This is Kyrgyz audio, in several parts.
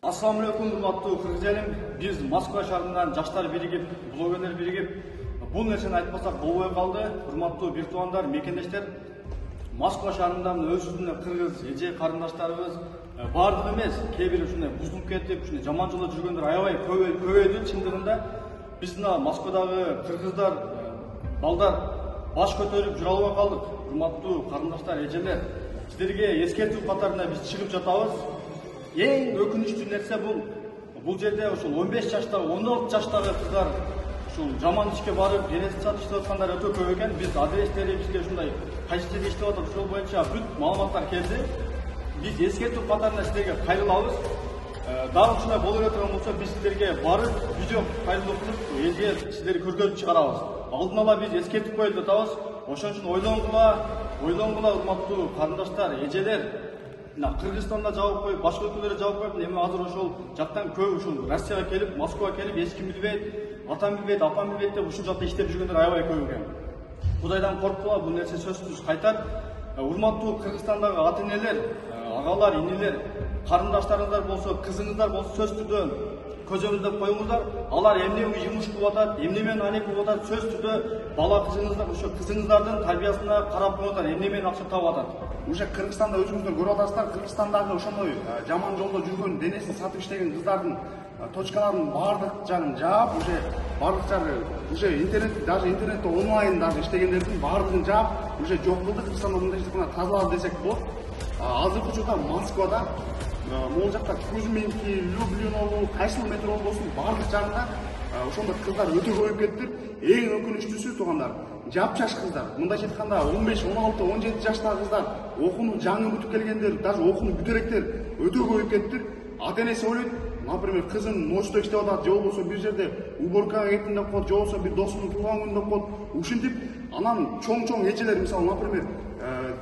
Assalamu alейкум, урматтуу кыргыз элим. Биз Москва шаарынан жаштар биригип, блогерлер биригип, бул нерсени айтпасак болбой калды. Урматтуу бир туугандар, мекендештер, Москва шаарынан өзүбүздүн кыргыз эже карындаштарыбыз баардыгы эмес, кээ бир ушундай бузулуп кетип, ушундай жаман жолдо жүргөндөр аябай көбөйдү. Чындыгында биздин Москвадагы кыргыздар, балдар баш көтөрүп жүрө албай калдык. Урматтуу карындаштар, эжелер, силерге эскертүү катарында биз чыгып жатабыз. Эң өкүнүчтүү нерсе бул жерде ушул 15 жаштагы, 16 жаштагы кыздар ушул жаман ишке барып, денесин сатып иштеп аткандар өтө көп экен. Биз адрестери бизге ушундай кайсы жерде иштеп атат, ошол боюнча бүт маалыматтар келди. Биз эскертүү катарында силерге кайрылабыз. Дагы ушундай боло бере турган болсо, биз силерге барып видео кайрылуу кылып, элге силерди көргөзүп чыгарабыз. Алдын ала биз эскертип коелу деп атабыз. Ошон үчүн ойлонгула, урматтуу карындаштар, эжелер. Кыргызстанда жабып коюп, башка өлкөлөрдө жабып коюп, эми азыр ошол жактан көп ушул Россияга келип, Москвага келип, эч ким билбейт, атам билбейт, апам билбейт деп ушул жакта иштеп жүргөндөр аябай көп экен. Кудайдан корккула, бул нерсе сөзсүз кайтат. Урматтуу Кыргызстандагы ата-энелер, агалар, инилер, карындаштарыңыздар болсо, кызыңыздар болсо сөз түрдө көзөмөлдөп коюңуздар. Алар эмне жумуш кылып атат, эмне менен айнек кылып атат, сөз түрдө бала кызыңыздар, ошо кызыңыздардын тарбиясына карап коюңуздар, эмне менен акча таап атат. Уже Кыргызстанда өзүңүздөр көрүп атасыздар, Кыргызстандагы ошондой жаман жолдо жүргөн, денесин сатып иштеген кыздардын точкаларын баардык жагын жаап, уже баардык жагы уже интернет, даже интернетте онлайн даже иштегендердин баардыгын жаап, уже жок кылдык. Кыргызстанда мындай тазалады десек болот. Азыркы учурда Москвада, могул жакта Кузьминки, Люблиново, кайсыл метро болбосун, баардык жагында ошондой кыздар өтө көбөйүп кетти. Эң өкүнүчтүүсү туугандар, жапжаш кыздар, мындайча айтканда 15, 16, 17 жаштагы кыздар, окууну жаңы бүтүп келгендер, даже окууну бүтө электер өтө көбөйүп кетти. Ата-энеси ойлойт, например, кызым ночто иштеп атат, же болбосо бир жерде уборкага кеттим деп коет, же болбосо бир досунун туулган күнү деп коет. Ушинтип анан чоң эжелер, мисалы, например,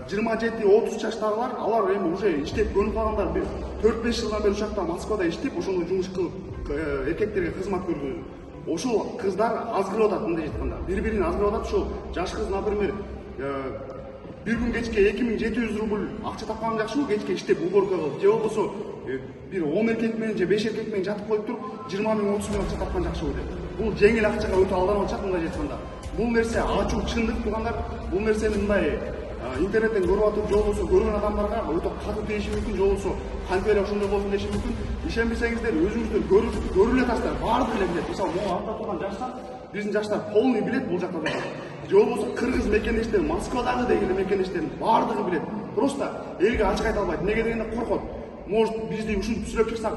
27-30 жаштагылар, алар эми уже иштеп көнүп калгандар, бир 4-5 жылдан бери ушакта Москвада иштеп, ошондой жумуш кылып эркектерге кызмат көрсөтөт. Ошол кыздар азгырып атат, мындай айтканда. Бири-бирин азгырып атат. Ошол жаш кыз, например, бир күн кечке 2700 рубль акча тапкан жакшыбы, кечке иштеп уборка кылып, же болбосо бир 10 эркек менен же 5 эркек менен жатып коюп туруп 20 000, 30 000 акча тапкан жакшыбы деп. Бул жеңил акчага өтө алданып атышат, мындай айтканда. Бул нерсе ачуу чындык туугандар. Бул нерсени мындай интернеттен көрүп атып, же болбосо көргөн адамдарга өтө катуу тийиши мүмкүн, же болбосо кантип эле ошондой болсун деши мүмкүн. Ишенбесеңиздер, өзүңүздөр көрүп эле атасыздар, баардыгы эле билет. Мисалы, могу артта турган жаштар, биздин жаштар полный билет бул жакта турган. Же болбосо кыргыз мекендештер, Москвадагы дегиле мекендештерин баардыгы билет. Просто элге ачык айта албайт. Неге дегенде коркот. Может, бизди ушинтип сүйлөп чыксак,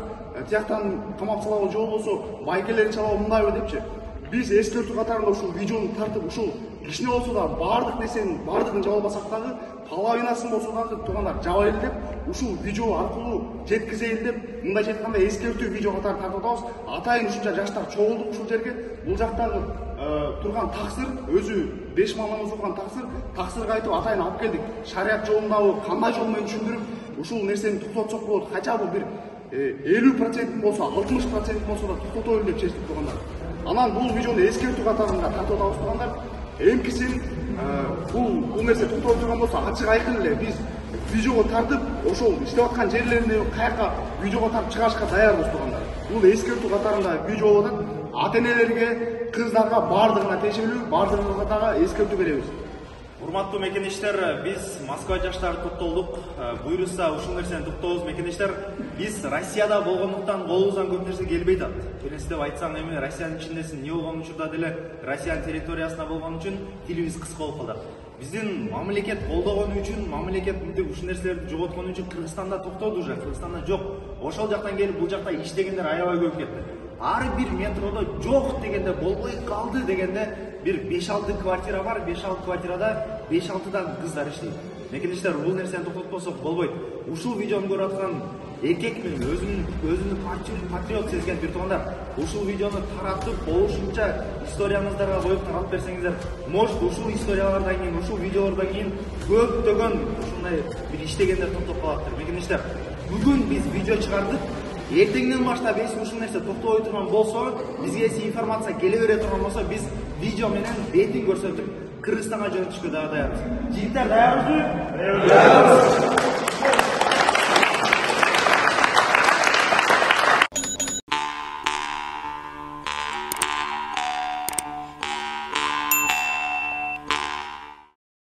тияктан камап салабы, же болбосо байкелерин чалабы, мындайбы депчи. Биз эскертүү катарында ушул видеону тартып, ушул кичине болсо да баардык нерсенин баардыгын жаба албасак дагы, половинасын болсо дагы туугандар жабайлы деп, ушул видео аркылуу жеткизейли деп, мындайча айтканда эскертүү видео катары тартып атабыз. Атайын ушунча жаштар чогулдук ушул жерге. Бул жактагы турган таксыр, өзү 5 миң намаз окуган таксырга айтып атайын алып келдик. Шарият жолундагы кандай жол менен түшүндүрүп, ушул нерсени токтотсок болот. Кача бул бир 50% болсо, 60% болсо да токтотойлу деп чечтик туугандар. Анан бул видеону эскертүү катарында тартып атабыз туугандар. Эмкисин бул нерсе токтолуп турган болсо, ачык айкын эле биз видеого тартып, ошол иштеп аткан жерлеринде каяка видеого тартып чыгарышка даярбыз туугандар. Бул эскертүү катарында видео болот. Ата-энелерге, кыздарга баардыгына тиешелүү, баардыгына дагы эскертүү беребиз. Урматтуу мекендештер, биз Москва жаштары токтолдук. Буйруса ушул нерсени токтообуз мекендештер. Биз Россияда болгондуктан колубуздан көп нерсе келбей атат. Келесі деп айтсаң, эми Россиянын ичиндесин, не болгон учурда деле Россиянын территориясына болгон үчүн тилибиз кыска болуп калды. Биздин мамлекет колдогон үчүн, мамлекет ушул нерселерди жоготкон үчүн Кыргызстанда токтоду уже, Кыргызстанда жок. Ошол жактан келип бул жакта иштегендер аябай көп кетти. Ар бир метродо жок дегенде, болбой калды дегенде бир 5-6 квартира бар, 5-6 квартирада 5-6дан кыздар иштейт. Мекендештер, бул нерсени токтотпосок болбойт. Ушул видеону көрүп аткан эркек менен өзүнүн патриот сезген бир туугандар, ушул видеону таратып, болушунча историяңыздарга коюп таралып берсеңиздер, может ушул историялардан кийин, ушул видеолордон кийин көптөгөн ушундай бир иштегендер токтоп калаттыр. Мекендештер, бүгүн биз видео чыгардык. Эртеңден баштап ушул нерсе токтобой турган болсо, бизге информация келе бере турган болсо, биз видео менен бетин көрсөтүп, Кыргызстанга жөнөтүшкө дагы даярбыз. Жигиттер даярбызбы? Даярбыз.